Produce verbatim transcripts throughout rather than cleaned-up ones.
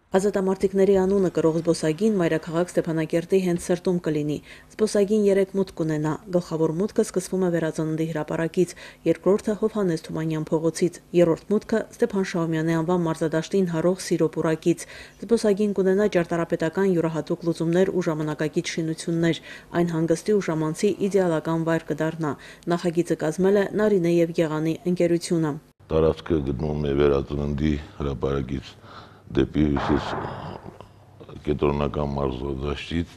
Ազատամարտիկների անունը կրող զբոսայգին մայրաքաղաք Ստեփանակերտի հենց սրտում կլինի։ Զբոսայգին երեք մուտք կունենա։ Գլխավոր մուտքը սկսվում է Վերածննդի հրապարակից, երկրորդը Հովհաննես Թումանյան փողոցից, երրորդ մուտքը Ստեփան Շահումյանի անվան մարզադաշտին հարող Սիրո պուրակից։ Զբոսայգին կունենա ճարտարապետական յուրահատուկ լուծումներ ու ժամանակակից շինություններ։ Այն հանգստի ու ժամանցի իդեալական վայր կդառնա։ Նախագիծը կազմել է Նարինե եւ Եղանի ընկերությունը։ Տարածքը գտնվում է Վերածննդի հրապարակից դեպի հյուսիս կենտրոնական մարզադաշտից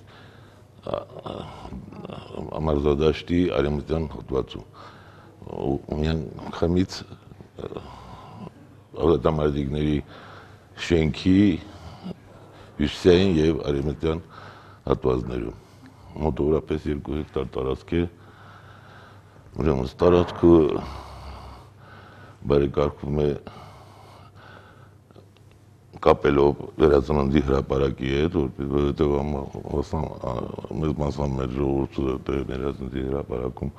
մարզադաշտի արևմտյան հատվածում։ Միայն խմից ազատամարտիկների շենքի հյուսիսային եւ արևմտյան հատվածներում։ Մոտավորապես երկու հեկտար տարածք է։ Ուրեմն տարածքը բարեկարգվում է կապելով Վերածննդի հրապարակի հետ, որովհետև մեծ մասամբ մեր ժողովուրդը Վերածննդի հրապարակում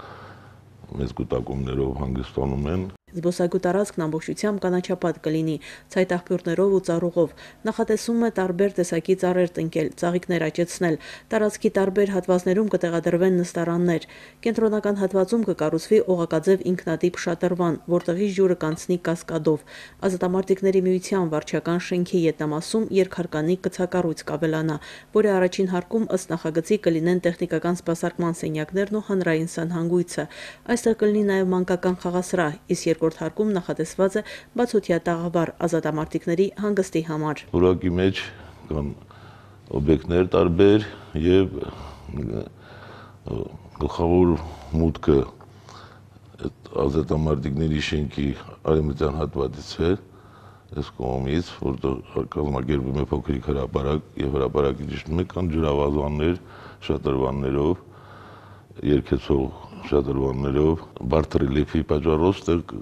մեծ կուտակումներով հանգստանում են։ Զբոսայգու տարածքն ամբողջությամբ կանաչապատ կլինի, ցայտաղբյուրներով ու ծառուղով։ Նախատեսվում է տարբեր տեսակի ծառեր տնկել, ծաղիկներ աճեցնել։ Տարածքի տարբեր հատվածներում կտեղադրվեն նստարաններ։ Կենտրոնական հատվածում կկառուցվի օղակաձև ինքնատիպ շատրվան, որտեղից ջուրը կանցնի կասկադով։ Ազատամարտիկների միության վարչական շենքի ետնամասում երկհարկանի կցակառույց կավելանա, որի առաջին հարկում ըստ նախագծի կլինեն տեխնիկական սպասարկման սենյակներն ու հանրային սանհանգույցը։ Այստեղ կլինի նաև մանկական խաղասրահ, իսկ երկրորդ հարկում նախատեսված է բացօթյա տաղավար ազատամարտիկների հանգստի համար։ Պուրակի մեջ կան օբյեկտներ տարբեր եւ գլխավոր մուտքը ազատամարտիկների շենքի արևմտյան հատվածից է, այս կողմից, որտեղ կազմակերպվում է փոքրիկ հրապարակ եւ հրապարակի ճշտում է կան ջրավազաններ շատրվաններով, երկեցող շատրվաններով, բարդ ռելիեֆի պատճառով ստեղ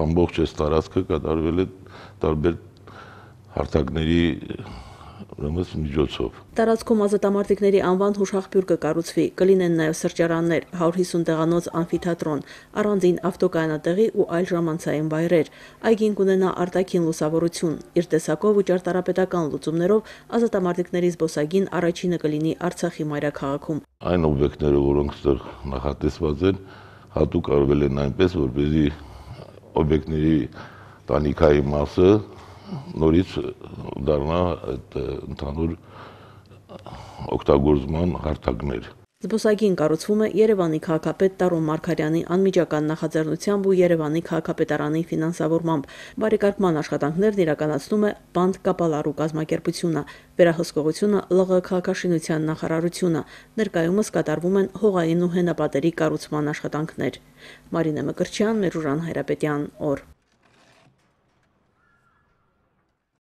ամբողջ այս տարածքը կատարվել է տարբեր հարթակների միջոցով։ Տարածքում ազատամարտիկների անվան հուշաղբյուր կկառուցվի, կլինեն նաև սրճարաններ, հարյուր հիսուն տեղանոց ամֆիթատրոն, առանձին ավտոկայանատեղի ու այլ ժամանցային վայրեր։ Այգին կունենա արտաքին լուսավորություն, իր տեսակով ու ճարտարապետական լուծումներով ազատամարտիկների զբոսայգին առաջինը կլինի Արցախի մայրաքաղաքում։ Այն օբյեկտները, որոնք ստեղ նախատեսված են, հատուկ արվել են այնպես, որպեսզի օբյեկտների տանիքայի մասը նորից դառնա այդ ընդհանուր օգտագործման հարթակներ։ Զբոսայգին կառուցվում է Երևանի քաղաքապետ Տարոն Մարգարյանի անմիջական նախաձեռնությամբ ու Երևանի քաղաքապետարանի ֆինանսավորմամբ։ Բարեկարգման աշխատանքներն իրականացնում է Բանդ Կապալարու կազմակերպությունը, վերահսկողությունը Լ Ղ քաղաքաշինության նախարարությունը։ Ներկայումս կատարվում են հողային ու հենապատերի կառուցման աշխատանքներ։ Մարինե Մկրտչյան, Մերուժան Հայրապետյան, օր։